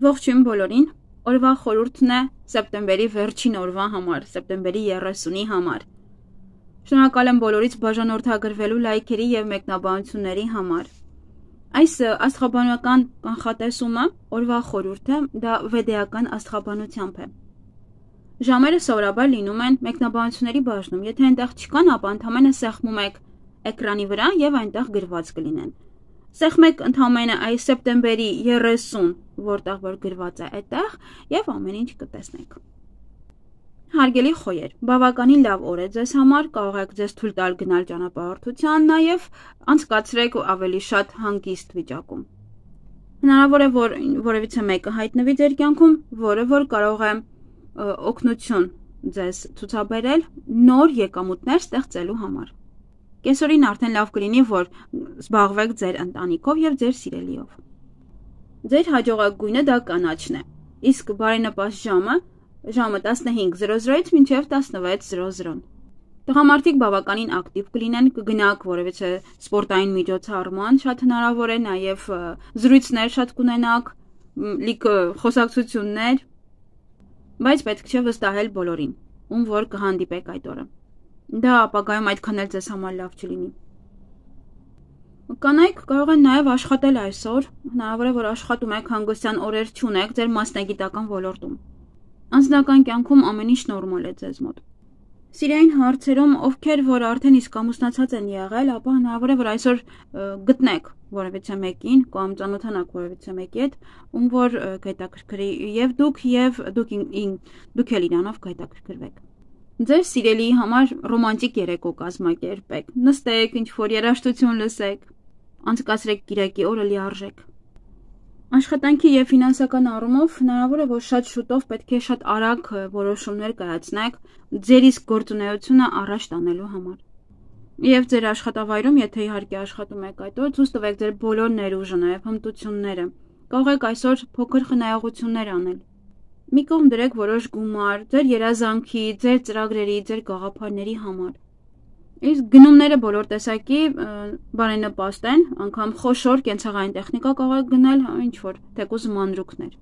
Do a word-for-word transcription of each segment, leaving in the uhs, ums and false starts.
Ողջույն բոլորին, օրվա խորհուրդն է սեպտեմբերի վերջին օրվա համար, սեպտեմբերի երեսունի համար։ Շնորհակալ եմ բոլորից բաժանորդագրվելու լայքերի և մեկնաբանությունների համար։ Այս աստղաբանական կանխատեսումը օրվա խորհուրդը դա վեդեական աստղաբանությամբ է։ Ժամերը սովորաբար լինում են մեկնաբանությունների բաժնում, եթե այնտեղ չկան, ապա ընդամենը սեղմում եք էկրանի վրա և այնտեղ գրված կլինեն։ Սեղմեք ընդամենը այս սեպտեմբերի երեսուն, որտեղ որ գրված է այդտեղ, և ամեն ինչ կտեսնեք։ Հարգելի խոյեր, բավականին լավ օր է ձեզ համար, կարող եք ձեզ թույլ տալ գնալ ճանապարհորդության, նաև անցկացրեք ավելի շատ հանգիստ վիճակում։ Հնարավոր է, որ որևիցե մեկը հայտնվի ձեր կյանքում, որը որ կարող է օգնություն ձեզ ցուցաբերել նոր եկամուտներ ստեղծելու համար։ Կեսօրին արդեն լավ կլինի, որ զբաղվեք ձեր ընտանիքով և ձեր սիրելիով։ Ձեր հաջողակ գույնը դա կանաչն է, իսկ բարենպաստ ժամը ժամը տասնհինգ զրո զրոից մինչև տասնվեց զրո զրո։ Տղամարդիկ բավականին ակտիվ կլինեն, կգնաք որևիցե սպորտային միջոցառման, շատ հնարավոր է, նաև զրույցներ շատ կունենաք, լիքը խոսակցություններ, բայց պետք չէ վստահել բոլորին, ում որ կհանդիպեք այդ օրը։ Դա ապագայում այդքան էլ ձեզ համար լավ չլինի։ Կանայք կարող են նաև աշխատել այսօր, հնարավոր է, որ աշխատում եք, հանգստյան օրեր չունեք ձեր մասնագիտական ոլորտում։ Անձնական կյանքում ամեն ինչ նորմալ է ձեզ մոտ։ Սիրային հարցերում, ովքեր որ արդեն իսկ ամուսնացած են եղել, ապա հնարավոր է, որ այսօր գտնեք որևիցե մեկին կամ ծանոթանաք որևիցե մեկի հետ, ում որ կհետաքրքրի և դուք և դուք դուք էլ իրանով կհետաքրքրվեք։ Ձեր սիրելիի համար ռոմանտիկ երեկո կազմակերպեք, նստեք, ինչ-որ երաժշտություն լսեք, անցկացրեք կիրակի օրը լիարժեք։ Աշխատանքի և ֆինանսական առումով հնարավոր է, որ շատ շուտով պետք է շատ արագ որոշումներ կայացնեք ձեր իսկ գործունեությունը առաջ տանելու համար։ Եվ ձեր աշխատավայրում, եթե իհարկե աշխատում եք այդ օր, ցույց տվեք ձեր բոլոր ներուժը, նաև հմտությունները։ Կարող եք այսօր փոքր խնայողություններ անել։ Մի կողմ դրեք որոշ գումար ձեր երազանքի, ձեր ծրագրերի, ձեր գաղափարների համար։ Իսկ գնումները բոլոր տեսակի բարենպաստ են, անգամ խոշոր կենցաղային տեխնիկա կարող եք գնել, ինչ-որ թեկուզ մանրուքներ։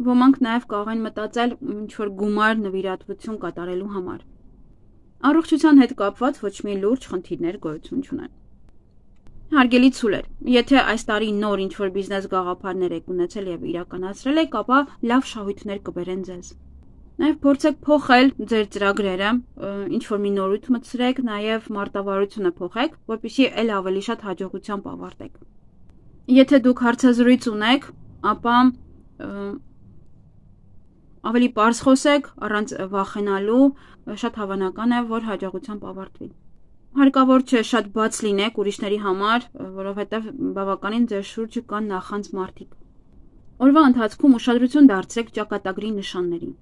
Ոմանք նաև կարող են մտածել ինչ-որ գումար նվիրատվություն կատարելու համար։ Առողջության հետ կապված ոչ մի լուրջ խնդիրներ գոյություն չունեն։ Հարգելի ցուլեր, եթե այս տարի նոր ինչ-որ բիզնես գաղափարներ եք ունեցել և իրականացրել եք, ապա լավ շահույթներ կբերեն ձեզ։ Նաև փորձեք փոխել ձեր ծրագրերը, ինչ-որ մի նորույթ մտցրեք, նաև մարտավարությունը փոխեք, որպեսզի էլ ավելի շատ հաջողությամբ ավարտեք։ Եթե դուք հարցազրույց ունեք, ապա ավելի պարզ խոսեք, առանց վախենալու, շատ հավանական է, որ հաջողությամբ ավարտվի։ Հարկավոր չէ շատ բաց լինեք ուրիշների համար, որովհետև բավականին ձեր շուրջը կան նախանձ մարդիկ։ Օրվա ընթացքում ուշադրություն դարձրեք ճակատագրի նշաններին։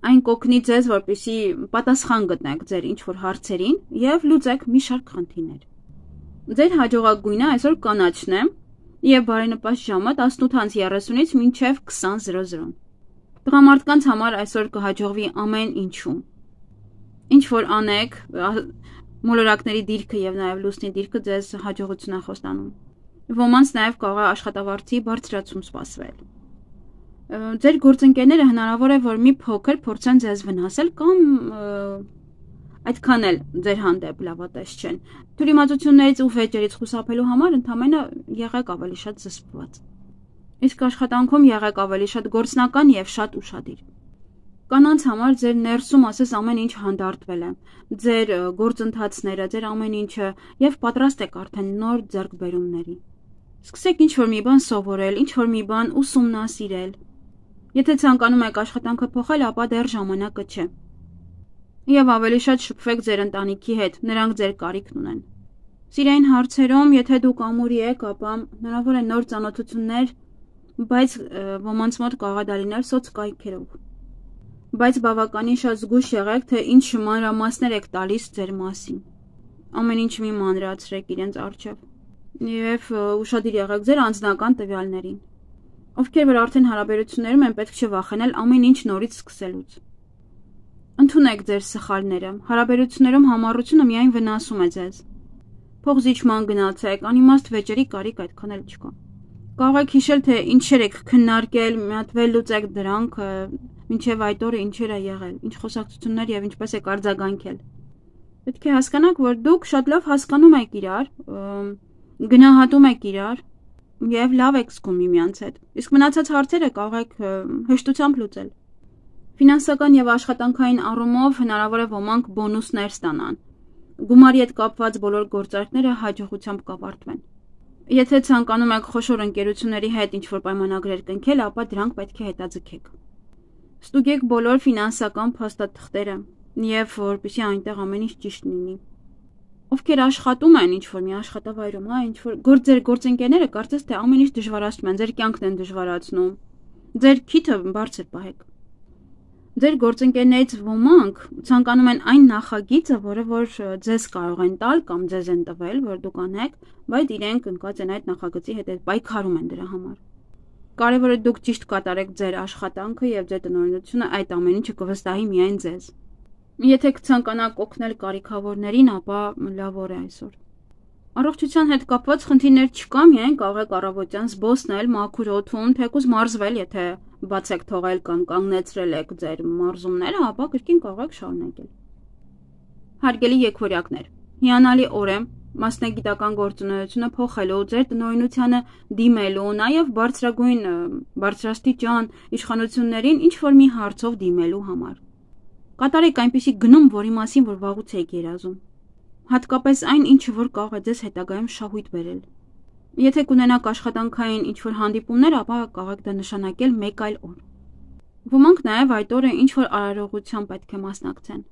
Այն կօգնի ձեզ, որպեսզի պատասխան գտնեք ձեր ինչ-որ հարցերին և լուծեք մի շարք խնդիրներ։ Ձեր հաջողակ գույնը այսօր կանաչն է և բարենպաստ ժամը տասնութ երեսունից մինչև քսան զրո զրո։ Տղամարդկանց համար այսօր կհաջողվի ամեն ինչում։ Ինչ որ անեք, մոլորակների դիրքը և նաև լուսնի դիրքը ձեզ հաջողություն է խոստանում։ Ոմանց նաև կարող է աշխատավարձի բարձրացում սպասվել։ Ձեր գործընկերները հնարավոր է, որ մի փոքր փորձեն ձեզ վնասել կամ այդքան էլ ձեր հանդեպ լավատես չեն։ Թյուրիմացություններից ու վեճերից խուսափելու համար ընդամենը եղեք ավելի շատ զսպված։ Իսկ աշխատանքում եղեք ավելի շատ գործնական և շատ ուշադիր։ Կանանց համար ձեր ներսում ասես ամեն ինչ հանդարտվել է, ձեր գործընթացները, ձեր ամեն ինչը և պատրաստ եք արդեն նոր ձեռքբերումների։ Սկսեք ինչ-որ մի բան սովորել, ինչ-որ մի բան ուսումնասիրել։ Եթե ցանկանում եք աշխատանքը փոխել, ապա դեռ ժամանակը չէ։ Եվ ավելի շատ շփվեք ձեր ընտանիքի հետ, նրանք ձեր կարիքն ունեն։ Սիրային հարցերում, եթե դուք ամուրի եք, ապա հնարավոր է նոր ծանոթություններ, բայց ոմանց մոտ կարող է դա լինել սոցկայքերով։ Բայց բավականին շատ զգույշ եղեք, թե ինչ մանրամասներ եք տալիս ձեր մասին։ Ամեն ինչ մի մանրացրեք իրենց առջև և ուշադիր եղեք ձեր անձնական տվյալներին։ Ովքեր որ արդեն հարաբերություններում են, պետք չէ վախենել ամեն ինչ նորից սկսելուց։ Ընդունեք ձեր սխալները, հարաբերություններում համառությունը միայն վնասում է ձեզ։ Փոխզիջման գնացեք, անիմաստ վեճերի կարիք այդքան էլ չկա։ Կարող եք հիշել, թե ինչեր եք քննարկել, մի հատ վերլուծեք դրանք, մինչև այդ օրը ինչեր է եղել, ինչ խոսակցություններ եւ ինչպես եք արձագանքել։ Պետք է հասկանաք, որ դուք շատ լավ հասկանում եք իրար, գնահատում եք իրար եւ լավ եք զգում միմյանց հետ։ Իսկ մնացած հարցերը կարող եք հեշտությամբ լուծել։ Ֆինանսական եւ աշխատանքային առումով հնարավոր է ոմանք բոնուսներ ստանան։ Գումարի հետ կապված բոլոր գործարքները հաջողությամբ կավարտվեն։ Եթե ցանկանում եք խոշոր ընկերությունների հետ ինչ-որ պայմանագրեր կնքել, ապա դրանք պետք է հետաձգեք։ Ստուգեք բոլոր ֆինանսական փաստաթղթերը եւ որպեսզի այնտեղ ամեն ինչ ճիշտ լինի։ Ովքեր աշխատում են ինչ-որ մի աշխատավայրում, հա, ինչ-որ գործեր գործընկերները կարծես թե ամեն ինչ դժվարացնում են, ձեր կյանքն են դժվարացնում։ Ձեր քիթը բարձր պահեք։ Ձեր գործընկերներից ոմանք ցանկանում են այն նախագիծը, որը որ ձեզ կարող են տալ կամ ձեզ են տվել, որ դուք անեք, բայց իրենք ընկած են այդ նախագծի հետ պայքարում են դրա համար։ Կարևորը դուք ճիշտ կատարեք ձեր աշխատանքը եւ ձեր տնօրինությունը, այդ ամեն ինչը կվստահի միայն ձեզ։ Եթե կցանկանաք օգնել կարիքավորներին, ապա լավ օր է այսօր։ Առողջության հետ կապված խնդիրներ չկա, միայն կարող եք առավոտյան զբոսնել մաքուր օդում, թեկուզ մարզվել, եթե բաց եք թողել կամ կանգնեցրել եք ձեր մարզումները, ապա կրկին կարող եք շարունակել։ Հարգելի եկվորյակներ, հիանալի օր է մասնագիտական գործունեությունը փոխելու, ձեր տնօրինությանը դիմելու, նաև բարձրագույն բարձրաստիճան իշխանություններին ինչ որ մի հարցով դիմելու համար։ Կատարեք այնպիսի գնում, որի մասին որ վաղուց եք երազում։ Հատկապես այն, ինչը որ կարող է ձեզ հետագայում շահույթ բերել։ Եթե կունենաք աշխատանքային ինչ-որ հանդիպումներ, ապա կարող եք դա նշանակել մեկ այլ օր։ Ոմանք նաև այդ օրը ինչ-որ արարողության պետք է մասնակցեն։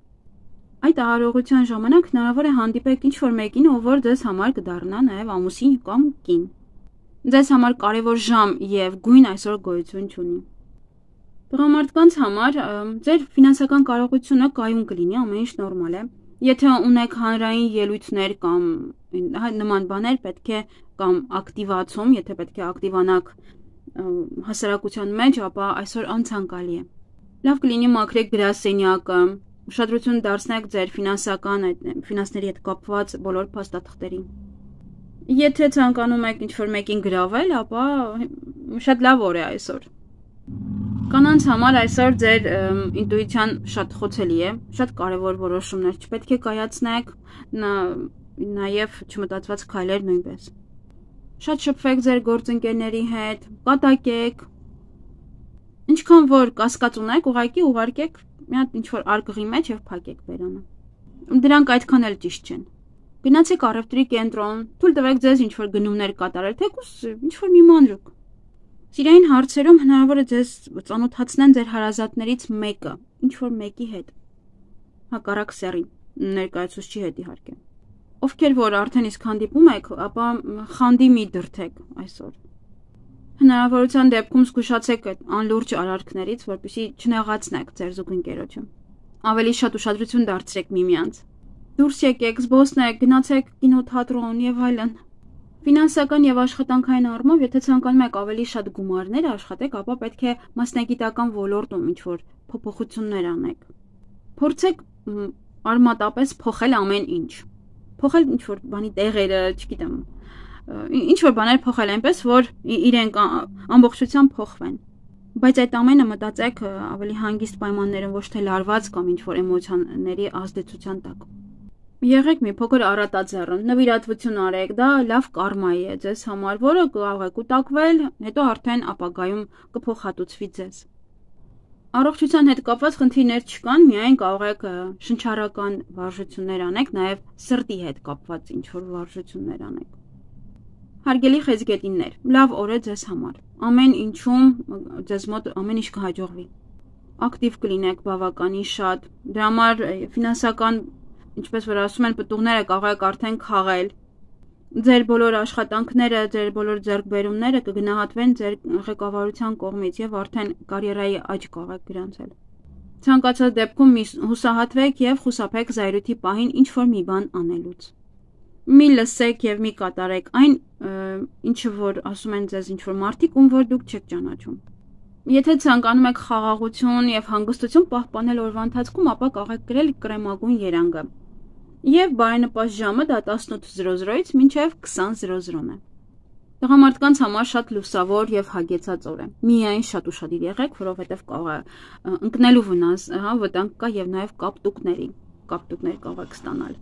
Այդ արարողության ժամանակ հնարավոր է հանդիպեք ինչ-որ մեկին, ով որ ձեզ համար կդառնա նաև ամուսին կամ կին։ Ձեզ համար կարևոր ժամ եւ գույն այսօր գոյություն չունի։ Տղամարդկանց համար ձեր ֆինանսական կարողությունը կայուն կլինի, ամեն ինչ նորմալ է։ Եթե ունեք հանրային ելույթներ կամ նման բաներ, պետք է կամ ակտիվացում, եթե պետք է ակտիվանաք հասարակության մեջ, ապա այսօր անցանկալի է։ Լավ կլինի մաքրեք գրասենյակը, ուշադրություն դարձնեք ձեր ֆինանսական ֆինանսների հետ կապված բոլոր փաստաթղթերին։ Եթե ցանկանում եք ինչ-որ մեկին գրավել, ապա շատ լավ օր է այսօր։ Կանանց համար այսօր ձեր ինտուիցիան շատ խոցելի է, շատ կարևոր որոշումներ չպետք է կայացնեք, նաև չմտածված քայլեր նույնպես։ Շատ շփվեք ձեր գործընկերների հետ, կատակեք։ Ինչքան որ կասկած ունեք, ուղղակի ուղարկեք մի հատ ինչ-որ արկղի մեջ եւ փակեք բերանը։ Դրանք այդքան էլ ճիշտ չեն։ Գնացեք առևտրի կենտրոն, թույլ տվեք ձեզ ինչ-որ գնումներ կատարել, թեկուզ ինչ-որ մի մանրուք։ Սիրային հարցերում հնարավոր է ձեզ ծանոթացնեն ձեր հարազատներից մեկը, ինչ-որ մեկի հետ։ Հակառակ սեռի, ներկայացուցչի հետ իհարկե։ Ովքեր որ արդեն իսկ հանդիպում եք, ապա խանդի մի դրթեք այսօր։ Հնարավորության դեպքում զգուշացեք այդ անլուրջ արարքներից, որպեսզի չնեղացնեք ձեր զուգընկերոջը։ Ավելի շատ ուշադրություն դարձրեք միմյանց։ Դուրս եկեք, զբոսնեք, գնացեք կինոթատրոն եւ այլն։ Ֆինանսական եւ աշխատանքային առումով, եթե ցանկանում եք ավելի շատ գումարներ աշխատեք, ապա պետք է մասնագիտական ոլորտում ինչ-որ փոփոխություններ անեք։ Փորձեք արմատապես փոխել ամեն ինչ։ Փոխել ինչ-որ բանի տեղերը, չգիտեմ, ինչ-որ բաներ փոխել այնպես, որ իրենք ամբողջությամբ փոխվեն։ Բայց այդ ամենը մտածեք ավելի հանգիստ պայմաններում, ոչ թե լարված կամ ինչ-որ էմոցիաների ազդեցության տակ։ Եղեք մի փոքր առատաձեռն, նվիրատվություն արեք, դա լավ կարմայի է ձեզ համար, որը կարող է կուտակվել, հետո արդեն ապագայում կփոխհատուցվի ձեզ։ Առողջության հետ կապված խնդիրներ չկան, միայն կարող եք շնչառական վարժություններ անեք, նաև սրտի հետ կապված ինչ-որ վարժություններ անեք։ Հարգելի խեցգետիններ, լավ օր է ձեզ համար։ Ամեն ինչում ձեզ մոտ ամեն ինչ կհաջողվի։ Ակտիվ կլինեք բավականին շատ, դրա համար ֆինանսական ինչպես որ ասում են պտուղները կարող եք արդեն քաղել։ Ձեր բոլոր աշխատանքները, ձեր բոլոր ձեռքբերումները կգնահատվեն ձեր ղեկավարության կողմից եւ արդեն կարիերայի աճ կարող եք գրանցել։ Ցանկացած դեպքում հուսահատվեք եւ խուսափեք զայրույթի պահին ինչ որ մի բան անելուց։ Մի լսեք եւ մի կատարեք այն, ինչը որ ասում են ձեզ ինչ որ մարդիկ, ում որ դուք չեք ճանաչում։ Եթե ցանկանում եք խաղաղություն եւ հանգստություն պահպանել օրվա ընթացքում, ապա կարող եք գրել կրեմագույն երանգը։ Եվ բարենպաստ ժամը դա տասնութ զրո զրոից մինչև քսան զրո զրոն է։ Տղամարդկանց համար շատ լուսավոր եւ հագեցած օր է։ Միայն շատ ուշադիր եղեք, որովհետեւ կարող է ընկնելու վնաս, հա, վտանգ կա եւ նաեւ կապտուկների, կապտուկներ կարող եք ստանալ։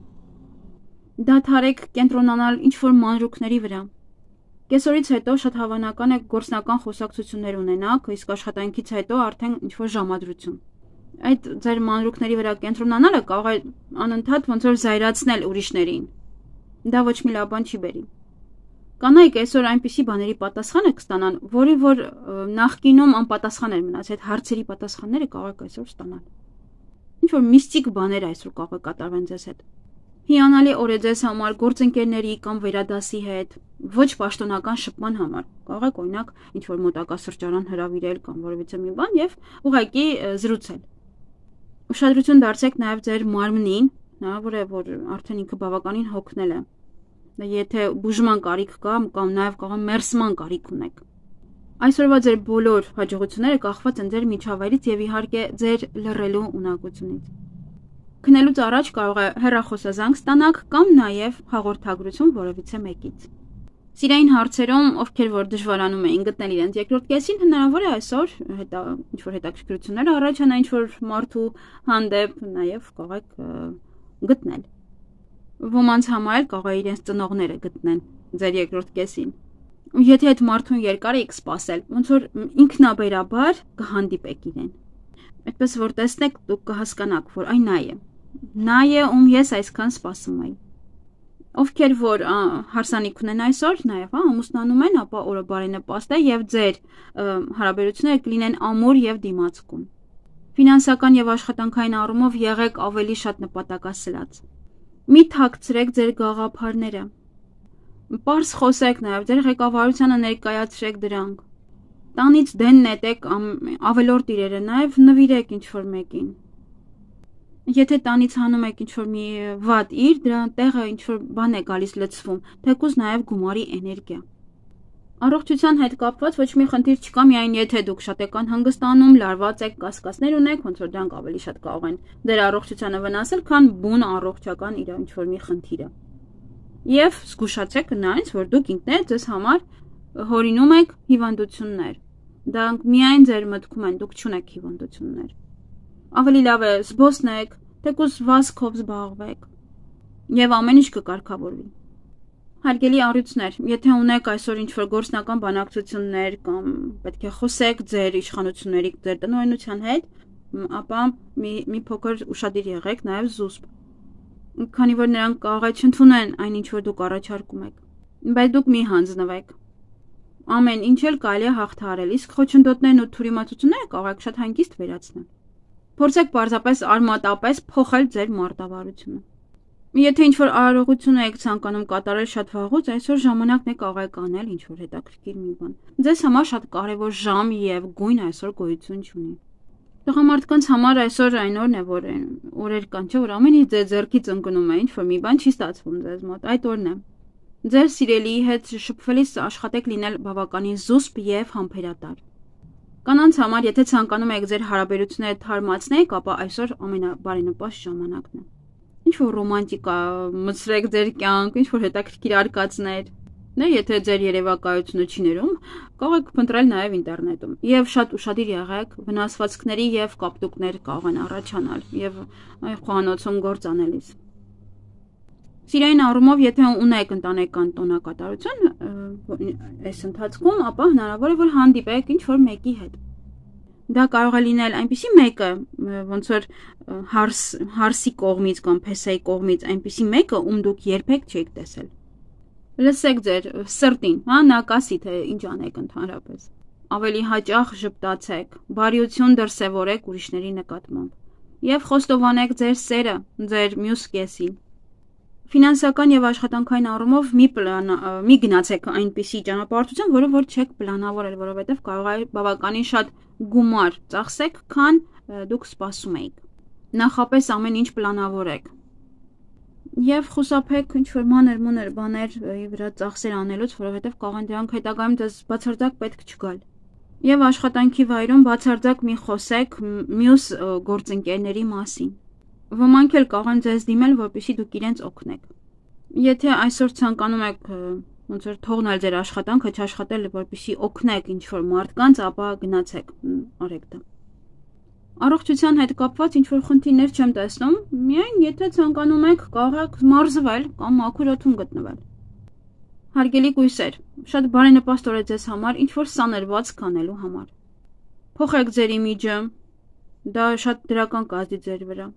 Դադարեք կենտրոնանալ ինչ-որ մանրուքների վրա։ Կեսօրից հետո շատ հավանական է գործնական խոսակցություններ ունենաք, իսկ աշխատանքից հետո արդեն ինչ-որ ժամադրություն։ Այդ ձեր մանրուքների վրա կենտրոնանալը կարող է անընդհատ ոնց որ զայրացնել ուրիշներին։ Դա ոչ մի լավ բան չի բերի։ Կանայք այսօր այնպիսի բաների պատասխանը կստանան, որի որ նախկինում անպատասխան էր մնաց, այդ հարցերի պատասխանները կարող եք այսօր ստանալ։ Ինչ-որ միստիկ բաներ այսօր կարող է կատարվեն ձեզ հետ։ Հիանալի օր է ձեզ համար գործընկերների կամ վերադասի հետ, ոչ պաշտոնական շփման համար։ Կարող եք օրինակ ինչ-որ մոտակա սրճարան հրավիրել կամ որևիցե մի բան եւ ուղղակի զրուցել։ Ուշադրություն դարձրեք նաեւ ձեր մարմնին, հնարավոր է որ արդեն ինքը բավականին հոգնել է։ Եթե բուժման կարիք կա կամ նաեւ կարող մերսման կարիք ունեք։ Այսօրվա ձեր բոլոր հաջողությունները կախված են ձեր միջավայրից եւ իհարկե ձեր լռելու ունակությունից։ Քնելուց առաջ կարող է հեռախոսազանգ ստանաք կամ նաև հաղորդագրություն որևիցե մեկից։ Սիրային հարցերում, ովքեր որ դժվարանում էին գտնել իրենց երկրորդ կեսին, հնարավոր է այսօր հետա ինչ-որ հետաքրքրություններ առաջանա ինչ-որ մարդու հանդեպ նաև կարող եք գտնել։ Ոմանց համար կարող է իրենց ծնողները գտնեն ձեր երկրորդ կեսին։ Եթե այդ մարդուն երկար եք սպասել, ոնց որ ինքնաբերաբար կհանդիպեք իրեն։ Այդպես որ տեսնեք, դուք կհասկանաք, որ այն նա է։ Նա է, ում ես այսքան սպասում եմ։ Ովքեր որ հարսանիք ունեն այսօր, նաև ամուսնանում են, ապա օրը բարենպաստ է եւ ձեր հարաբերությունները կլինեն ամուր եւ դիմացկուն։ Ֆինանսական եւ աշխատանքային առումով եղեք ավելի շատ նպատակասլաց։ Մի թաքցրեք ձեր գաղափարները։ Պարզ խոսեք նաև ձեր ղեկավարությանը ներկայացրեք դրանք։ Տանից դեն նետեք ավելորդ իրերը նաև նվիրեք ինչ-որ մեկին։ Եթե տանից հանում եք ինչ-որ մի վատ իր, դրա տեղը ինչ-որ բան է գալիս լցվում, թեկուզ նաև գումարի էներգիա։ Առողջության հետ կապված ոչ մի խնդիր չկա, միայն եթե դուք շատ եք անհանգստանում, լարված եք, կասկածներ ունեք, ոնց որ դրանք ավելի շատ կարող են ձեր առողջությանը վնասել, քան բուն առողջական իր ինչ-որ մի խնդիրը։ Եվ զգուշացեք նրանից, որ դուք ինքներդ ձեզ համար հորինում եք հիվանդություններ։ Դրանք միայն ձեր մտքում են, դուք չունեք հիվանդություններ։ Ավելի լավ է զբոսնեք, թեկուզ վազքով զբաղվեք եւ ամեն ինչ կկարգավորվի։ Հարգելի առյուծներ, եթե ունեք այսօր ինչ-որ գործնական բանակցություններ կամ պետք է խոսեք ձեր իշխանությունների, ձեր տնօրինության հետ, ապա մի, մի փոքր ուշադիր եղեք նաեւ զուսպ։ Քանի որ նրանք կարող է չընդունեն այն ինչ որ դուք առաջարկում եք, բայց դուք մի հանձնվեք։ Ամեն ինչ էլ կարելի է հաղթահարել, իսկ խոչընդոտներն ու թյուրիմացությունները կարող եք շատ հանգիստ վերացնել։ Փորձեք պարզապես արմատապես փոխել ձեր մարտավարությունը։ Եթե ինչ-որ արարողություն եք ցանկանում կատարել շատ վաղուց, այսօր ժամանակն է կարող եք անել ինչ-որ հետաքրքիր մի բան։ Ձեզ համար շատ կարևոր ժամ եւ գույն այսօր գոյություն չունի։ Տղամարդկանց համար այսօր այն օրն է, որ օրեր կան, չէ՞ որ ամեն ինչ ձեր ձեռքից ընկնում է, ինչ-որ մի բան չի ստացվում ձեզ մոտ, այդ օրն է։ Ձեր սիրելիի հետ շփվելիս աշխատեք լինել բավականին զուսպ եւ համբերատար։ Կանանց համար, եթե ցանկանում եք ձեր հարաբերությունները թարմացնեք, ապա այսօր ամենաբարենպաստ ժամանակն է։ Ինչ-որ ռոմանտիկա մտցրեք ձեր կյանք, ինչ-որ հետաքրքիր արկածներ։ Նա եթե ձեր երևակայությունը չի ներում, կարող եք փնտրել նաև ինտերնետում։ Եվ շատ ուշադիր եղեք, վնասվածքների եւ կապտուկներ կարող են առաջանալ եւ խոհանոցում գործ անելիս։ Սիրային առումով, եթե ունեք ընտանեկան տոնակատարություն այս ընթացքում, ապա հնարավոր է որ հանդիպեք ինչ-որ մեկի հետ։ Դա կարող է լինել այնպիսի մեկը, ոնց որ հարս, հարսի կողմից կամ փեսայի կողմից այնպիսի մեկը, ում դուք երբեք չեք տեսել։ Լսեք ձեր սրտին, հա, նա կասի թե ինչ անեք ընդհանրապես։ Ավելի հաճախ ժպտացեք, բարիություն դրսևորեք ուրիշների նկատմամբ եւ խոստովանեք ձեր սերը ձեր մյուս կեսին։ Ֆինանսական եւ աշխատանքային առումով մի պլան մի գնացեք այնպիսի ճանապարհորդության, որը որ չեք պլանավորել, որովհետեւ կարող է բավականին շատ գումար ծախսեք, քան դուք սպասում էիք։ Նախապես ամեն ինչ պլանավորեք։ Եվ խուսափեք ինչ-որ մանր-մունր բաներ վրա ծախսեր անելուց, որովհետև կարող են դրանք հետագայում դες բացարձակ պետք չգալ։ Եվ աշխատանքի վայրում բացարձակ մի խոսեք մյուս գործընկերների մասին։ Ոմանք էլ կարող են ձեզ դիմել, որպեսզի դուք իրենց օգնեք։ Եթե այսօր ցանկանում եք ոնց որ թողնել ձեր աշխատանքը, չաշխատել, որպեսզի օգնեք ինչ-որ մարդկանց, ապա գնացեք, արեք դա։ Առողջության հետ կապված ինչ-որ խնդիրներ չեմ տեսնում, միայն եթե ցանկանում եք, կարող եք մարզվել կամ մաքուր օդում գտնվել։ Հարգելի գույսեր, շատ բարենպաստ օր է ձեզ համար, ինչ-որ սաներված կանելու համար։ Փոխեք ձեր իմիջը, դա շատ դրական կազդի ձեր վրա։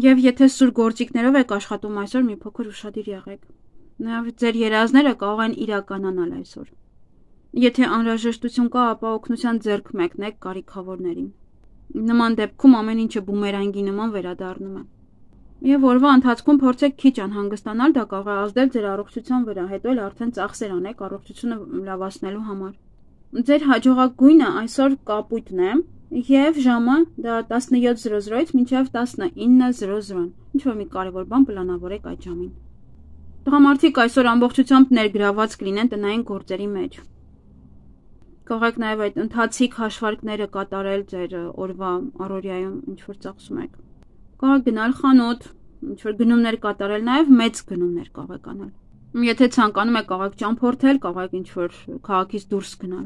Եվ եթե սուր գործիքներով եք աշխատում այսօր, մի փոքր ուշադիր եղեք։ Նաև ձեր երազները կարող են իրականանալ այսօր։ Եթե անհրաժեշտություն կա, ապա օգնության ձեռք մեկնեք կարիքավորներին։ Նման դեպքում ամեն ինչը բումերանգի նման վերադառնում է։ Եվ օրվա ընթացքում փորձեք քիչ անհանգստանալ, դա կարող է ազդել ձեր առողջության վրա, հետո էլ արդեն ծախսեր անեք առողջությունը լավացնելու համար։ Ձեր հաջողակ գույնը այսօր կապույտն է, եւ ժամը դա տասնյոթ զրո զրոից մինչև տասնինը զրո զրո։ Ինչ որ մի կարևոր բան պլանավորեք այդ ժամին։ Տղամարդիկ այսօր ամբողջությամբ ներգրաված կլինեն տնային գործերի մեջ։ Կարող եք նաև այդ ընթացիկ հաշվարկները կատարել ձեր օրվա առօրյայում, ինչ որ ծախսում եք։ Կարող եք գնալ խանութ, ինչ որ գնումներ կատարել, նաև մեծ գնումներ կարող եք անել։ Եթե ցանկանում եք, կարող եք ճամփորդել, կարող եք ինչ որ քաղաքից դուրս գնալ։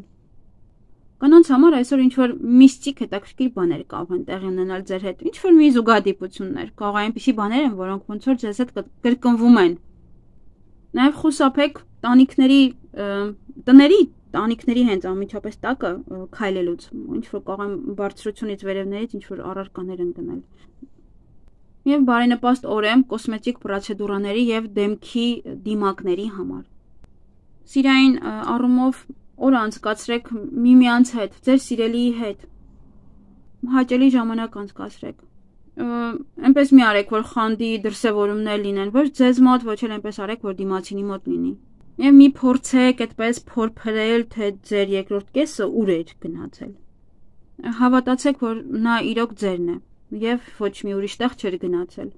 Կանանց համար այսօր ինչ որ միստիկ հետաքրքիր բաներ կարող են տեղի ունենալ ձեր հետ, ինչ որ մի զուգադիպություններ, կարող է այնպիսի բաներ են, որոնք ոնց որ ձեզ հետ կրկնվում են։ Նաև խուսափեք տանիքների տների տանիքների հենց անմիջապես տակը քայլելուց, ինչ որ կարող են բարձրությունից վերևներից ինչ որ առարկաներ ընկնել։ Եվ բարենպաստ օր է կոսմետիկ պրոցեդուրաների եւ դեմքի դիմակների համար։ Սիրային առումով օրը անցկացրեք միմյանց հետ, ձեր սիրելիի հետ։ Հաճելի ժամանակ անցկացրեք։ Այնպես մի արեք, որ խանդի դրսևորումներ լինեն, ոչ ձեզ մոտ, ոչ էլ այնպես արեք, որ դիմացինի մոտ լինի։ Եվ մի փորձեք այդպես փորփրել, թե ձեր երկրորդ կեսը ուր է գնացել։ Հավատացեք, որ նա իրոք ձերն է եւ ոչ մի ուրիշ տեղ չէր գնացել։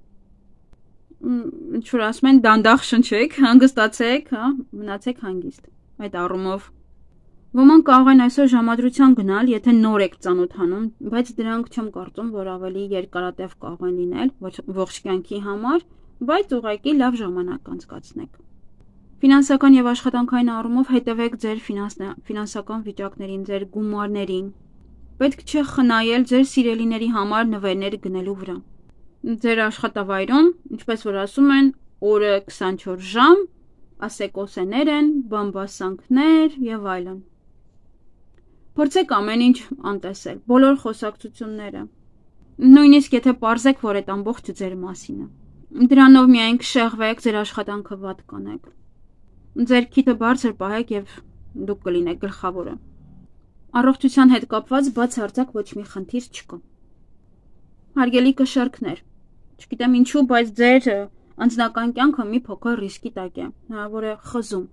Ինչ որ ասում են, դանդաղ շնչեք, հանգստացեք, հա, մնացեք հանգիստ։ Այդ առումով ոմանք կարող են այսօր ժամադրության գնալ, եթե նոր եք ծանոթանում, բայց դրանք չեմ կարծում, որ ավելի երկարատև կարող են լինել ողջ կյանքի համար, բայց ուղղակի լավ ժամանակ անցկացնեք։ Ֆինանսական եւ աշխատանքային առումով հետևեք ձեր ֆինանսական վիճակներին, ձեր գումարներին։ Պետք չէ խնայել ձեր սիրելիների համար նվերներ գնելու վրա։ Ձեր աշխատավայրում, ինչպես որ ասում են, օրը քսանչորս ժամ, ասեկոսեներ են, բամբասանքներ եւ այլն։ Փորձեք ամեն ինչ անտեսել, բոլոր խոսակցությունները։ Նույնիսկ եթե պարզեք, որ այդ ամբողջը ձեր մասին է։ Դրանով միայն կշեղվեք, ձեր աշխատանքը վատ կանեք։ Ձեր քիթը բարձր պահեք եւ դուք կլինեք գլխավորը։ Առողջության հետ կապված բացարձակ ոչ մի խնդիր չկա։ Հարգելի կշարքներ, չգիտեմ ինչու, բայց ձեր անձնական կյանքը մի փոքր ռիսկի տակ է, հնարավոր է խզում։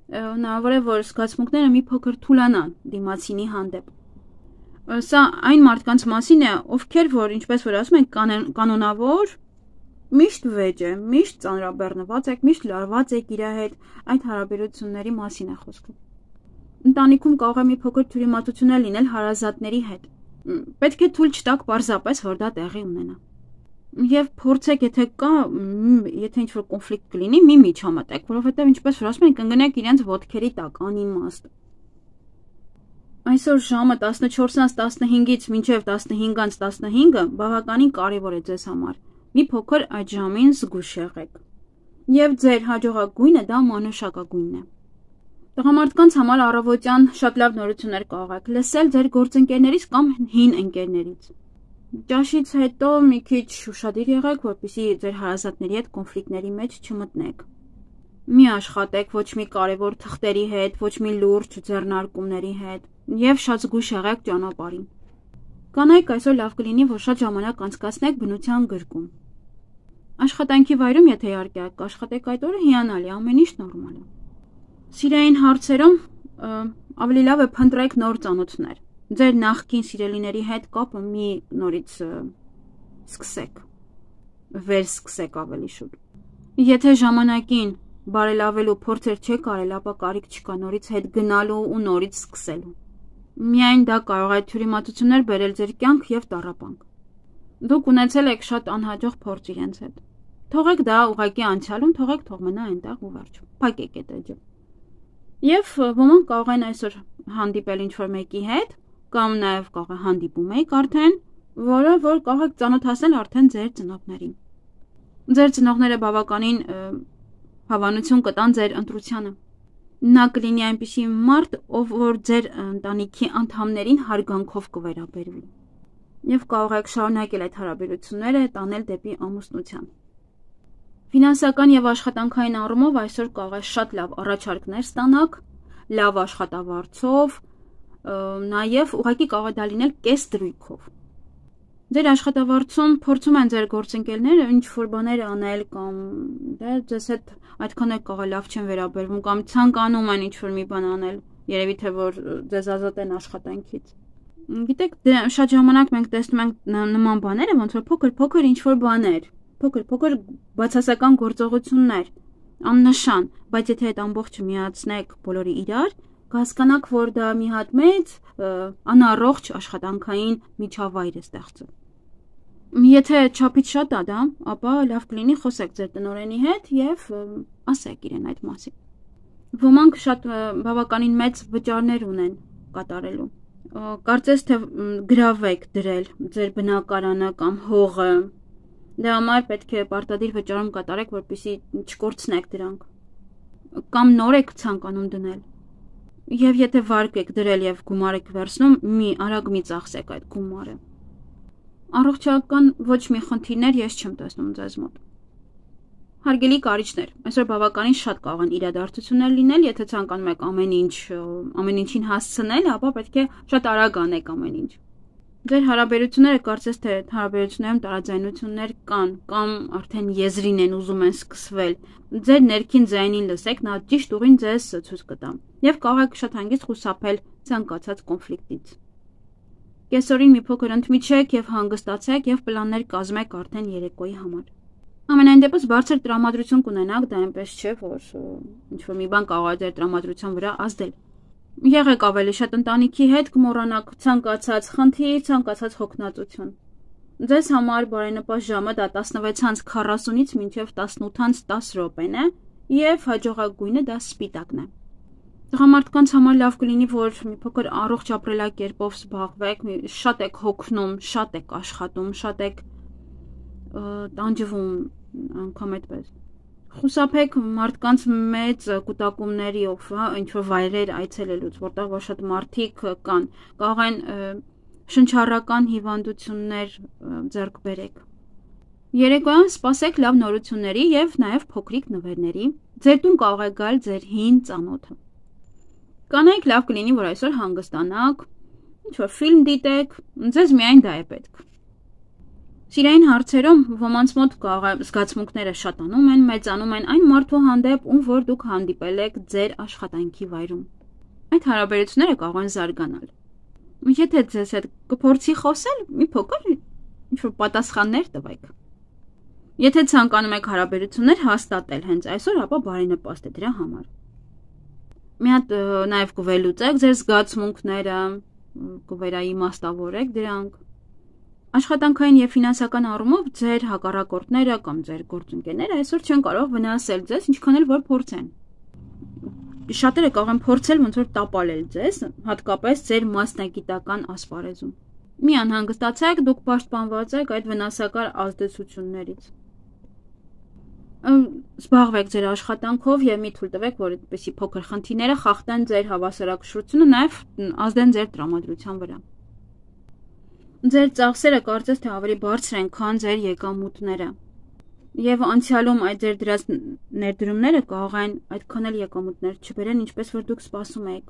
Հնարավոր է, որ զգացմունքները մի փոքր թուլանան դիմացինի հանդեպ։ Սա այն մարդկանց մասին է, ովքեր որ, ինչպես որ ասում են, կանոնավոր միշտ վեճ է, միշտ ծանրաբեռնված եք, միշտ լարված եք իր հետ, այդ հարաբերությունների մասին է խոսքը։ Ընտանիքում կարող է մի փոքր թյուրիմացություն լինել հարազատների հետ։ Պետք է թույլ չտաք պարզապես, որ դա տեղի ունենա։ Եվ փորձեք, եթե կա, եթե ինչ-որ կոնֆլիկտ կլինի, մի միջամտեք, որովհետև ինչպես որ ասում են, կընկնեք իրենց ոտքերի տակ, անիմաստ։ Այսօր ժամը տասնչորսից տասնհինգից մինչև տասնհինգից տասնհինգը բավականին կարևոր է ձեզ համար։ Մի փոքր այդ ժամին զգուշ եղեք։ Եվ ձեր հաջողակ գույնը դա մանուշակագույնն է։ Տղամարդկանց համար առավոտյան շատ լավ նորություններ կարող եք լսել ձեր գործընկերներից կամ հին ընկերներից։ Ճաշից հետո մի քիչ ուշադիր եղեք, որպեսզի ձեր հարազատների հետ կոնֆլիկտների մեջ չմտնեք։ Մի աշխատեք ոչ մի կարևոր թղթերի հետ, ոչ մի լուրջ ձեռնարկումների հետ եւ շատ զգուշ եղեք ճանապարհին։ Կանայք այսօր լավ կլինի, որ շատ ժամանակ անցկացնեք բնության գրկում։ Աշխատանքի վայրում, եթե իհարկե աշխատեք այդ օրը, հիանալի, ամեն ինչ նորմալ է։ Սիրային հարցերում ավելի լավ է փնտրեք նոր ծանոթներ։ Ձեր նախկին սիրելիների հետ կապը մի նորից սկսեք, վերսկսեք ավելի շուտ։ Եթե ժամանակին բարելավելու փորձեր չեք արել, ապա կարիք չկա նորից հետ գնալու ու նորից սկսելու։ Միայն դա կարող է թյուրիմացություններ բերել ձեր կյանք եւ տառապանք։ Դուք ունեցել եք շատ անհաջող փորձ իրենց հետ։ Թողեք դա ուղղակի անցյալում, թողեք թող մնա այնտեղ ու վերջ։ Փակեք այդ էջը։ Եվ ոմանք կարող են այսօր հանդիպել ինչ-որ մեկի հետ, կամ նաև կարող է հանդիպում եք արդեն, որը որ կարող եք ծանոթացնել արդեն ձեր ծնողներին։ Ձեր ծնողները բավականին հավանություն կտան ձեր ընտրությանը։ Նա կլինի այնպիսի մարդ, ով որ ձեր ընտանիքի անդամներին հարգանքով կվերաբերվի։ Եվ կարող եք շարունակել այդ հարաբերությունները տանել դեպի ամուսնության։ Ֆինանսական եւ աշխատանքային առումով այսօր կարող է շատ լավ առաջարկներ ստանաք, լավ աշխատավարձով, նաև ուղղակի կարող է դա լինել կես դրույքով։ Ձեր աշխատավարձում փորձում են ձեր գործընկերները ինչ-որ բաներ անել կամ դե ձեզ հետ այդքան էլ կարող է լավ չեն վերաբերվում կամ ցանկանում են ինչ-որ մի բան անել, երևի թե որ ձեզ ազատեն աշխատանքից։ Գիտեք, շատ ժամանակ մենք տեսնում ենք նման բաները, ոնց որ փոքր-փոքր ինչ-որ բաներ, փոքր-փոքր բացասական գործողություններ, աննշան, բայց եթե այդ ամբողջը միացնեք բոլորի իրար, կհասկանաք, որ դա մի հատ մեծ անառողջ աշխատանքային միջավայր է ստեղծում։ Եթե չափից շատ է դա, ապա լավ կլինի խոսեք ձեր տնօրենի հետ եւ ասեք իրեն այդ մասին։ Ոմանք շատ բավականին մեծ վճարներ ունեն կատարելու։ Կարծես թե գրավեք դրել ձեր բնակարանը կամ հողը։ Դրա համար պետք է պարտադիր վճարում կատարեք, որպեսզի չկորցնեք դրանք։ Կամ նոր եք ցանկանում դնել։ Եվ եթե վարկ եք դրել եւ գումար եք վերցնում, մի արագ մի ծախսեք այդ գումարը։ Առողջական ոչ մի խնդիրներ ես չեմ տեսնում ձեզ մոտ։ Հարգելի կարիճներ, այսօր բավականին շատ կարող են իրադարձություններ լինել, եթե ցանկանում եք ամեն ինչ, ամեն ինչին հասցնել, ապա պետք է շատ արագ անեք ամեն ինչ։ Ձեր հարաբերությունները կարծես թե հարաբերություններում տարաձայնություններ կան, կամ արդեն եզրին են ուզում են սկսվել։ Ձեր ներքին ձայնին լսեք, նա ճիշտ ուղին ձեզ ցույց կտա։ Եվ կարող եք շատ հանգիստ խուսափել ցանկացած կոնֆլիկտից։ Կեսօրին մի փոքր ընդմիջեք եւ հանգստացեք եւ պլաններ կազմեք արդեն երեկոյի համար։ Ամենայն դեպս բարձր տրամադրություն կունենաք, դա այնպես չէ, որ ինչ-որ մի բան կարող է ձեր տրամադրության վրա ազդել։ Եղեք ավելի շատ ընտանիքի հետ, կմոռանաք ցանկացած խնդիր, ցանկացած հոգնածություն։ Ձեզ համար բարենպաստ ժամը դա տասնվեց քառասունից մինչև տասնութ տասը րոպեն է եւ հաջողագույնը դա սպիտակն է։ Տղամարդկանց համար լավ կլինի, որ մի փոքր առողջ ապրելակերպով զբաղվեք, շատ եք հոգնում, շատ եք աշխատում, շատ եք տանջվում, անգամ այդպես։ Խուսափեք մարդկանց մեծ կուտակումներիով, ինչ-որ վայրեր այցելելուց, որտեղ որ շատ մարդիկ կան, կարող են շնչառական հիվանդություններ ձեռք բերեք։ Երեկոյան սպասեք լավ նորությունների եւ նաեւ փոքրիկ նվերների։ Ձեր տուն կարող է գալ ձեր հին ծանոթը։ Կանայք լավ կլինի, որ այսօր հանգստանաք, ինչ-որ ֆիլմ դիտեք, ձեզ միայն դա է պետք։ Սիրային հարցերում ոմանց մոտ կարող է զգացմունքները շատանում են, մեծանում են այն մարդու հանդեպ, ում որ դուք հանդիպել եք ձեր աշխատանքի վայրում։ Այդ հարաբերությունները կարող են զարգանալ։ Եթե ձեզ հետ կփորձի խոսել, մի փոքր ինչ-որ պատասխաններ տվեք։ Եթե ցանկանում եք հարաբերություններ հաստատել հենց այսօր, ապա բարենպաստ է դրա համար։ Մի հատ նաև կվելուծեք ձեր զգացմունքները, կվերաիմաստավորեք դրանք։ Աշխատանքային եւ ֆինանսական առումով ձեր հակառակորդները կամ ձեր գործընկերները այսօր չեն կարող վնասել ձեզ, ինչքան էլ որ փորձեն։ Շատերը կարող են փորձել ոնց որ տապալել ձեզ, հատկապես ձեր մասնագիտական ասպարեզում։ Մի անհանգստացեք, դուք պաշտպանված եք այդ վնասակար ազդեցություններից։ Զբաղվեք ձեր աշխատանքով եւ մի թույլ տվեք, որ այդպիսի փոքր խնդիրները խախտեն ձեր հավասարակշռությունը, նաեւ ազդեն ձեր տրամադրության վրա։ Ձեր ծախսերը կարծես թե ավելի բարձր են, քան ձեր եկամուտները։ Եվ անցյալում այդ ձեր դրած ներդրումները կարող են այդքան էլ եկամուտներ չբերեն, ինչպես որ դուք սպասում եք։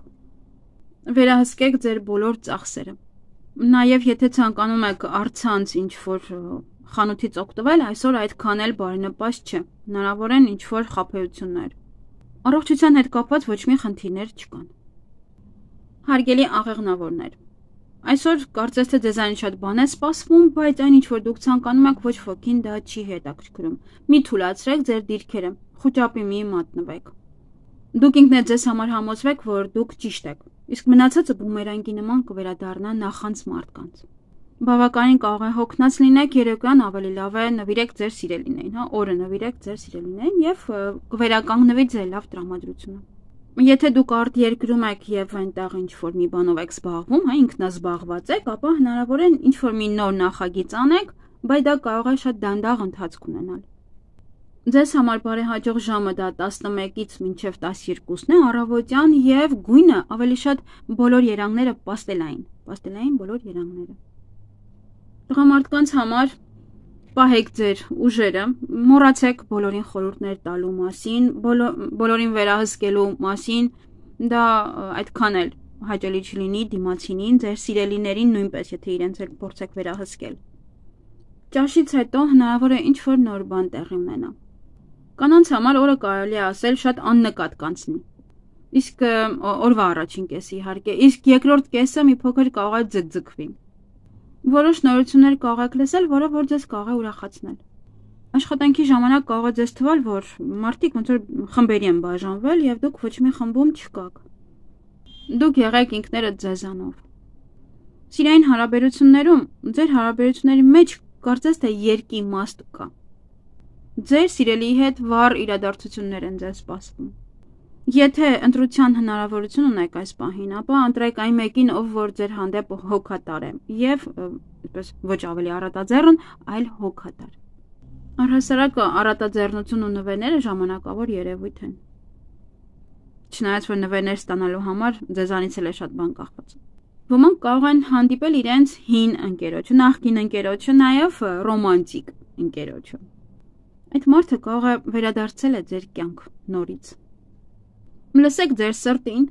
Վերահսկեք ձեր բոլոր ծախսերը։ Նաև եթե ցանկանում եք առցանց ինչ-որ խանութից օգտվել, այսօր այդքան էլ բարենպաստ չէ։ Հնարավոր են ինչ-որ խաբեություններ։ Առողջության հետ կապված ոչ մի խնդիրներ չկան։ Հարգելի աղեղնավորներ, այսօր կարծես թե ձեզանից շատ բան է սպասվում, բայց այն ինչ որ դուք ցանկանում եք, ոչ ոքին դա չի հետաքրքրում։ Մի թուլացրեք ձեր դիրքերը, խոճապի մի մատնվեք։ Դուք ինքներդ ձեզ համար համոզվեք, որ դուք ճիշտ եք, իսկ մնացածը բումերանգի նման կվերադառնա նախանց մարդկանց։ Բավականին կարող է հոգնած լինեք, երեկոյան ավելի լավ է նվիրեք ձեր սիրելիներին, հա, օրը նվիրեք ձեր սիրելիներին եւ կվերականգնվի ձեր լավ տրամադրությունը։ Եթե դուք արդ երկրում եք եւ այնտեղ ինչ-որ մի բանով եք զբաղվում, հա, ինքնազբաղված եք, ապա հնարավոր է ինչ-որ մի նոր նախագիծ անեք, բայց դա կարող է շատ դանդաղ ընթացք ունենալ։ Ձեզ համար բարեհաջող ժամը դա տասնմեկից մինչև տասներկուսն է առավոտյան եւ գույնը ավելի շատ բոլոր երանգները պաստելային, պաստելային բոլոր երանգները։ Տղամարդկանց համար պահեք ձեր ուժերը, մոռացեք բոլորին խորհուրդներ տալու մասին, բոլորին վերահսկելու մասին, դա այդքան էլ հաճելի չլինի դիմացինին, ձեր սիրելիներին նույնպես, եթե իրենց էլ փորձեք վերահսկել։ Ճաշից հետո հնարավոր է ինչ-որ նոր բան տեղի ունենա։ Կանանց համար օրը կարելի է ասել շատ աննկատ կանցնի։ Իսկ օրվա առաջին կեսը իհարկե, իսկ երկրորդ կեսը մի փոքր կարող է ձգձգվի։ Որոշ նորություններ կարող եք լսել, որը որ ձեզ կարող է ուրախացնել։ Աշխատանքի ժամանակ կարող է ձեզ թվալ, որ մարդիկ ոնց որ խմբերի են բաժանվել եւ դուք ոչ մի խմբում չկաք։ Դուք եղեք ինքներդ ձեզանով։ Սիրային հարաբերություններում, ձեր հարաբերությունների մեջ կարծես թե երկի իմաստ կա։ Ձեր սիրելիի հետ վառ իրադարձություններ են ձեզ սպասվում։ Եթե ընտրության հնարավորություն ունեք այս պահին, ապա ընտրեք այն մեկին, ով որ ձեր հանդեպ հոգատար է եւ այսպես ոչ ավելի առատաձեռն, այլ հոգատար։ Առհասարակ առատաձեռնություն ու նվերները ժամանակավոր երևույթ են։ Չնայած որ նվերներ ստանալու համար ձեզանից էլ է շատ բան կախված։ Ոմանք կարող են հանդիպել իրենց հին ընկերոջը, նախկին ընկերոջը, նաեւ ռոմանտիկ ընկերոջը։ Այդ մարդը կարող է վերադարձել է ձեր կյանք նորից։ Լսեք ձեր սրտին,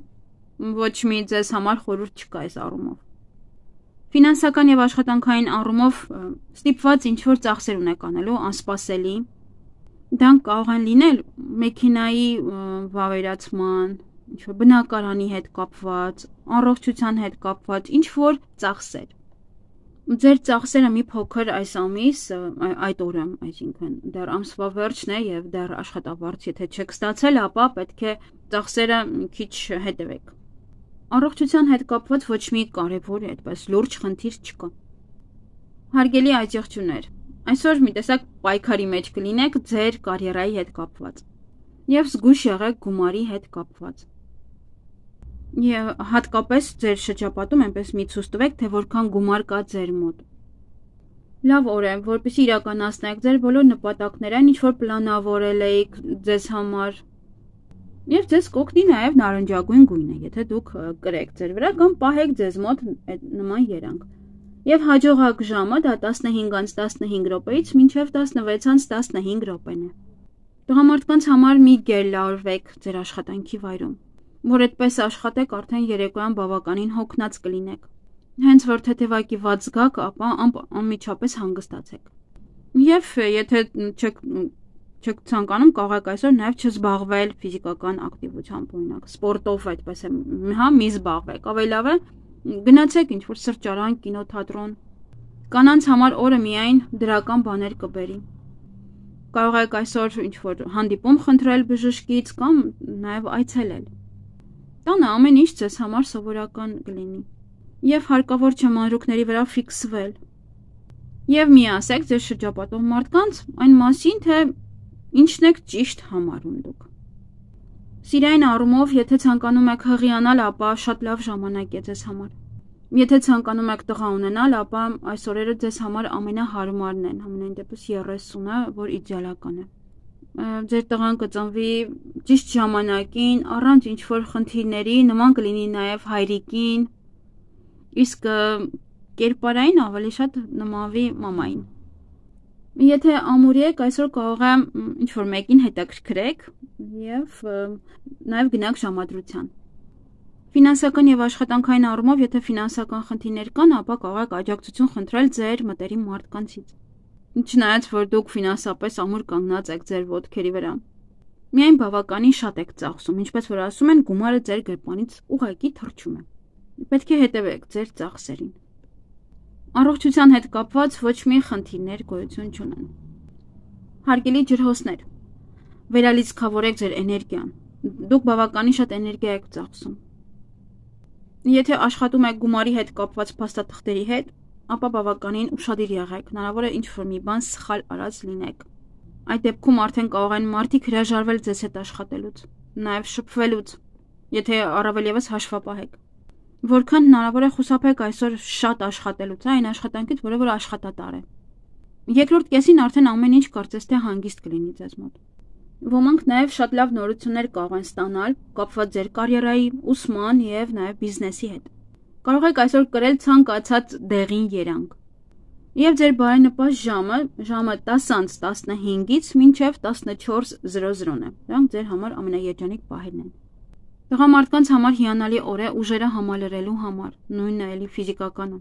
ոչ մի ձեզ համար խորհուրդ չկա այս առումով։ Ֆինանսական եւ աշխատանքային առումով ստիպված ինչ-որ ծախսեր ունեք անելու անսպասելի։ Դրանք կարող են լինել մեքենայի վավերացման, ինչ-որ բնակարանի հետ կապված, առողջության հետ կապված, ինչ-որ ծախսեր։ Ձեր ծախսերը մի փոքր այս ամիս, այդ օրը, այսինքն դեռ ամսվա վերջն է եւ դեռ աշխատավարձ եթե չեք ստացել, ապա պետք է ծախսերը քիչ հետևեք։ Առողջության հետ կապված ոչ մի կարևոր այդպես լուրջ խնդիր չկա։ Հարգելի աջակցություններ, այսօր մի տեսակ պայքարի մեջ կլինեք ձեր կարիերայի հետ կապված եւ զգույշ եղեք գումարի հետ կապված։ Եվ հատկապես ձեր շրջապատում այնպես մի ցույց տվեք, թե որքան գումար կա ձեր մոտ։ Լավ օր է, որպեսզի իրականացնեք ձեր բոլոր նպատակները, ինչ որ պլանավորել եք ձեզ համար։ Եվ ձեզ կօգնի նաև նարնջագույն գույնը, եթե դուք կրեք ձեր վրա կամ պահեք ձեզ մոտ նման երանգ։ Եվ հաջողակ ժամը դա տասնհինգից տասնհինգ րոպեից մինչև տասնվեցից տասնհինգ րոպեն է։ Տղամարդկանց համար մի գերլարվեք ձեր աշխատանքի վայրում, որ այդպես աշխատեք, արդեն երեկոյան բավականին հոգնած կլինեք։ Հենց որ թեթևակի ված զգաք, ապա անմիջապես հանգստացեք։ Եվ եթե չեք չեք ցանկանում, կարող եք այսօր նաև չզբաղվել ֆիզիկական ակտիվությամբ, օրինակ սպորտով այդպես է, հա, մի զբաղվեք, ավելի լավ է գնացեք ինչ-որ սրճարան, կինոթատրոն։ Կանանց համար օրը միայն դրական բաներ կբերի։ Կարող եք այսօր ինչ-որ հանդիպում խնդրել բժշկից կամ նաև այցելել։ Տանը ամեն ինչ ձեզ համար սովորական կլինի։ Եվ հարկավոր չէ մանրուքների վրա ֆիքսվել։ Եվ մի ասեք ձեր շրջապատող մարդկանց այն մասին, թե ինչն եք ճիշտ համարում դուք։ Սիրային առումով, եթե ցանկանում եք հղիանալ, ապա շատ լավ ժամանակ է ձեզ համար։ Եթե ցանկանում եք տղա ունենալ, ապա այս օրերը ձեզ համար ամենահարմարն են, համենայն դեպս երեսունը, որ իդեալական է։ Ձեր տղան կծնվի ճիշտ ժամանակին, առանց ինչ-որ խնդիրների, նման կլինի նաև հայրիկին, իսկ կերպարային ավելի շատ նմանվի մամային։ Եթե ամուրի եք, այսօր կարող է ինչ-որ մեկին հետաքրքրեք եւ նաև գնաք ժամադրության։ Ֆինանսական եւ աշխատանքային առումով, եթե ֆինանսական խնդիրներ կան, ապա կարող եք աջակցություն խնդրել ձեր մտերիմ մարդկանցից։ Չնայած որ դուք ֆինանսապես ամուր կանգնած եք ձեր ոտքերի վրա։ Միայն բավականին շատ եք ծախսում, ինչպես որ ասում են, գումարը ձեր գրպանից ուղղակի թռչում է։ Պետք է հետևեք ձեր ծախսերին։ Առողջության հետ կապված ոչ մի խնդիրներ գոյություն չունեն։ Հարգելի ջրհոսներ, վերալիցքավորեք ձեր էներգիան։ Դուք բավականին շատ էներգիա եք ծախսում։ Եթե աշխատում եք գումարի հետ կապված փաստաթղթերի հետ, ապա բավականին ուշադիր եղեք, հնարավոր է ինչ-որ մի բան սխալ արած լինեք։ Այդ դեպքում արդեն կարող են մարդիկ հրաժարվել ձեզ հետ աշխատելուց, նաև շփվելուց, եթե առավել ևս հաշվապահեք։ Որքան հնարավոր է խուսափեք այսօր շատ աշխատելուց, այն աշխատանքից, որը որ աշխատատար է։ Երկրորդ կեսին արդեն ամեն ինչ կարծես թե հանգիստ կլինի ձեզ մոտ։ Ոմանք նաև շատ լավ նորություններ կարող են ստանալ կապված ձեր կարիերայի, ուսման եւ նաև բիզնեսի հետ։ Կարող եք այսօր կրել ցանկացած դեղին երանգ։ Եվ ձեր բարենպաստ ժամը ժամը տասը տասնհինգից մինչև տասնչորս զրո զրոն է։ Դրանք ձեր համար ամենաերջանիկ պահերն են։ Տղամարդկանց համար հիանալի օր է ուժերը համալրելու համար, նույնն է էլի ֆիզիկականը։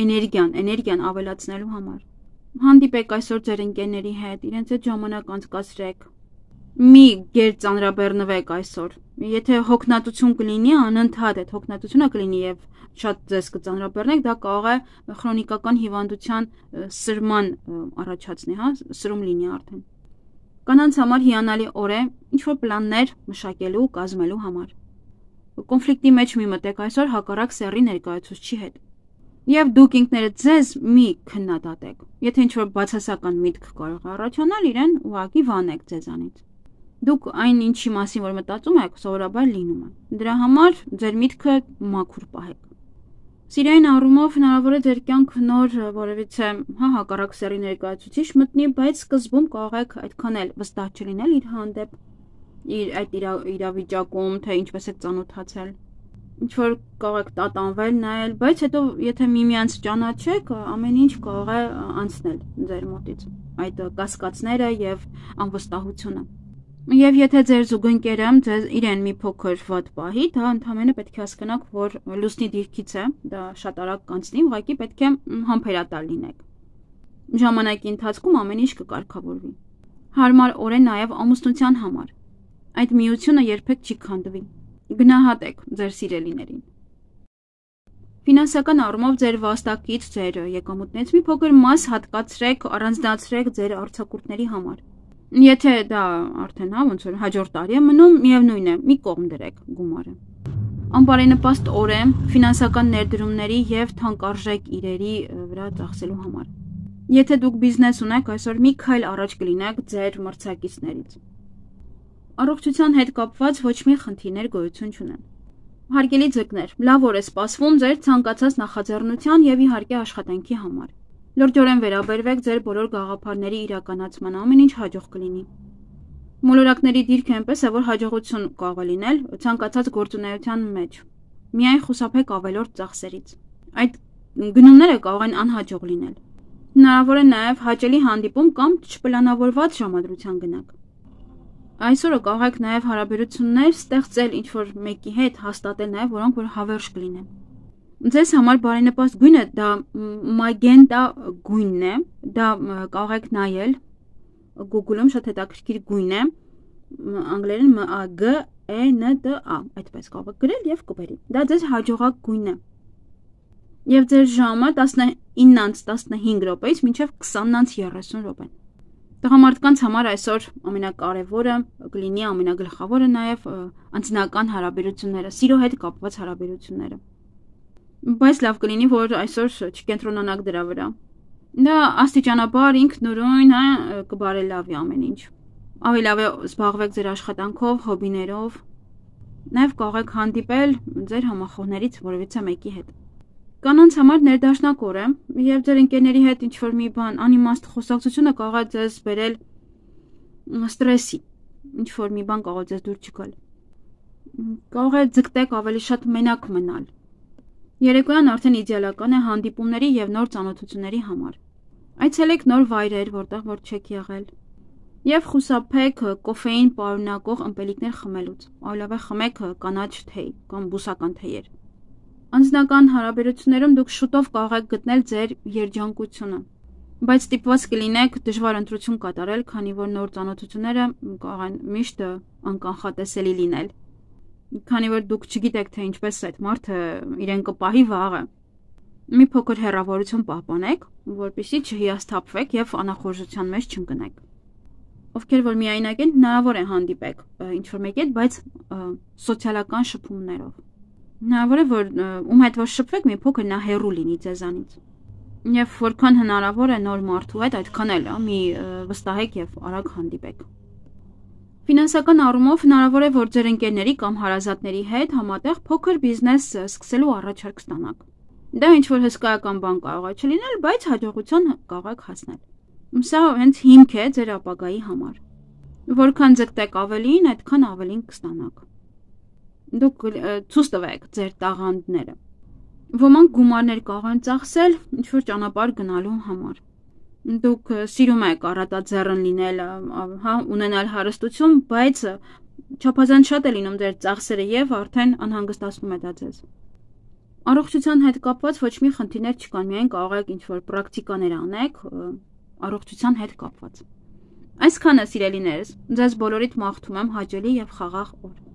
Էներգիան, էներգիան ավելացնելու համար։ Հանդիպեք այսօր ձեր ընկերների հետ, իրենց հետ ժամանակ անցկացրեք։ Մի գերծանրաբեռնվեք այսօր։ Եթե հոգնածություն կլինի, անընդհատ այդ հոգնածությունը կլինի եւ շատ ձեզ կծանրաբեռնեք, դա կարող է քրոնիկական հիվանդության սրման առաջացնի, հա, սրում լինի արդեն։ Կանանց համար հիանալի օր է ինչ-որ պլաններ մշակելու, կազմելու համար։ Կոնֆլիկտի մեջ մի մտեք այսօր հակառակ սեռի ներկայացուցչի հետ։ Եվ դուք ինքներդ ձեզ մի քննադատեք։ Եթե ինչ-որ բացասական միտք կարող է առաջանալ, իրեն ուղղակի վանեք ձեզանից։ Դուք այն ինչի մասին որ մտածում եք, սովորաբար լինում է։ Դրա համար ձեր միտքը մաքուր պահեք։ Սիրային առումով հնարավոր է ձեր կյանք նոր որևիցե հա հակառակ սեռի ներկայացուցիչ մտնի, բայց սկզբում կարող եք այդքան էլ վստահ չլինել իր հանդեպ, իր այդ իրավիճակում, թե ինչպես եք ծանոթացել։ Ինչ որ կարող եք տատանվել, նայել, բայց հետո եթե միմյանց ճանաչեք, ամեն ինչ կարող է անցնել ձեր մոտից։ Այդ կասկածները եւ անվստահությունը։ Եվ եթե ձեր զուգընկերը ձեզ իրեն մի փոքր վատ պահի, դա ընդհանրապես պետք է հասկանաք, որ լուսնի դիրքից է, դա շատ արագ կանցնի, ուղղակի պետք է համբերատար լինեք։ Ժամանակի ընթացքում ամեն ինչ կկարգավորվի։ Հարմար օր է նաև ամուսնության համար։ Այդ միությունը երբեք չի քանդվի։ Գնահատեք ձեր սիրելիներին։ Ֆինանսական առումով ձեր վաստակից, ձեր եկամուտներից մի փոքր մաս հատկացրեք, առանձնացրեք ձեր արձակուրդների համար։ Եթե դա արդեն հա ոնց որ հաջորդ տարի է մնում, միևնույն է, մի կողմ դրեք գումարը։ Անբարենպաստ օր է ֆինանսական ներդրումների եւ թանկարժեք իրերի վրա ծախսելու համար։ Եթե դուք բիզնես ունեք, այսօր մի քայլ առաջ կլինեք ձեր մրցակիցներից։ Առողջության հետ կապված ոչ մի խնդիրներ գոյություն չունեն։ Հարգելի ձկներ, լավ օր է սպասվում ձեր ցանկացած նախաձեռնության եւ իհարկե աշխատանքի համար։ Լրջորեն վերաբերվեք ձեր բոլոր գաղափարների իրականացման, ամեն ինչ հաջող կլինի։ Մոլորակների դիրքը այնպես է, որ հաջողություն կարող է լինել ցանկացած գործունեության մեջ։ Միայն խուսափեք ավելորդ ծախսերից։ Այդ գնումները կարող են անհաջող լինել։ Հնարավոր է նաև հաճելի հանդիպում կամ չպլանավորված ժամադրության գնաք։ Այսօրը կարող եք նաև հարաբերություններ ստեղծել ինչ-որ մեկի հետ, հաստատել նաև, որոնք որ հավերժ կլինեն։ Ձեզ համար բարենպաստ գույնը դա մագենտա գույնն է, դա կարող եք նայել Google-ում շատ հետաքրքիր գույն է, անգլերեն M A G E N T A, այդպես կարող եք գրել եւ կբերի։ Դա ձեզ հաջողակ գույն է։ Եվ ձեր ժամը տասնինից տասնհինգ րոպեից մինչև քսանից երեսուն րոպե։ Տղամարդկանց համար այսօր ամենակարևորը կլինի, ամենագլխավորը նաև անձնական հարաբերությունները, սիրո հետ կապված հարաբերությունները։ Բայց լավ կլինի, որ այսօր չկենտրոնանաք դրա վրա։ Դա աստիճանաբար ինքնուրույն հա կբարելավի ամեն ինչ։ Ավելի լավ է զբաղվեք ձեր աշխատանքով, հոբիներով։ Նաև կարող եք հանդիպել ձեր համախոհներից որևիցե մեկի հետ։ Կանանց համար ներդաշնակ օր է, եւ ձեր ընկերների հետ ինչ-որ մի բան անիմաստ խոսակցությունը կարող է ձեզ բերել ստրեսի, ինչ-որ մի բան կարող է ձեզ դուր չգալ։ Կարող է ձգտեք ավելի շատ մենակ մնալ։ Երեկոյան արդեն իդեալական է հանդիպումների եւ նոր ծանոթությունների համար։ Այցելեք նոր վայրեր, որտեղ որ չեք եղել։ Եվ խուսափեք կոֆեին պարունակող ըմպելիքներ խմելուց։ Այլև խմեք կանաչ թեյ կամ բուսական թեյեր։ Անձնական հարաբերություններում դուք շուտով կարող եք գտնել ձեր երջանկությունը, բայց ստիպված կլինեք դժվար ընտրություն կատարել, քանի որ նոր ծանոթությունները կարող են միշտ անկանխատեսելի լինել։ Քանի որ դուք չգիտեք, թե ինչպես այդ մարդը իրեն կպահի վաղը։ Մի փոքր հեռավորություն պահպանեք, որպեսզի չհիասթափվեք եւ անախորժության մեջ չընկնեք։ Ովքեր որ միայնակ են, հնարավոր է հանդիպեք ինչ-որ մեկի հետ, բայց սոցիալական շփումներով։ Հնարավոր է որ ում հետ որ շփվեք, մի փոքր նա հեռու լինի ձեզանից։ Եվ որքան հնարավոր է նոր մարդու հետ, այդքան էլ մի վստահեք եւ արագ հանդիպեք։ Ֆինանսական առումով հնարավոր է, որ ձեր ընկերների կամ հարազատների հետ համատեղ փոքր բիզնես սկսելու առաջարկ ստանաք։ Դա ինչ-որ հսկայական բան կարող է չլինել, բայց հաջողության կարող եք հասնել։ Սա հենց հիմք է ձեր ապագայի համար։ Որքան ձգտեք ավելին, այդքան ավելին կստանաք։ Դուք ցույց տվեք ձեր տաղանդները։ Ոմանք գումարներ կարող են ծախսել ինչ-որ ճանապարհ գնալու համար։ Դուք սիրում եք առատաձեռն լինել, հա, ունենալ հարստություն, բայց չափազանց շատ է լինում ձեր ծախսերը եւ արդեն անհանգստացնում է դա ձեզ։ Առողջության հետ կապված ոչ մի խնդիրներ չկան, միայն կարող եք ինչ-որ պրակտիկաներ անեք առողջության հետ կապված։ Այսքանը, սիրելիներս, ձեզ բոլորիդ մաղթում եմ հաճելի եւ խաղաղ օր։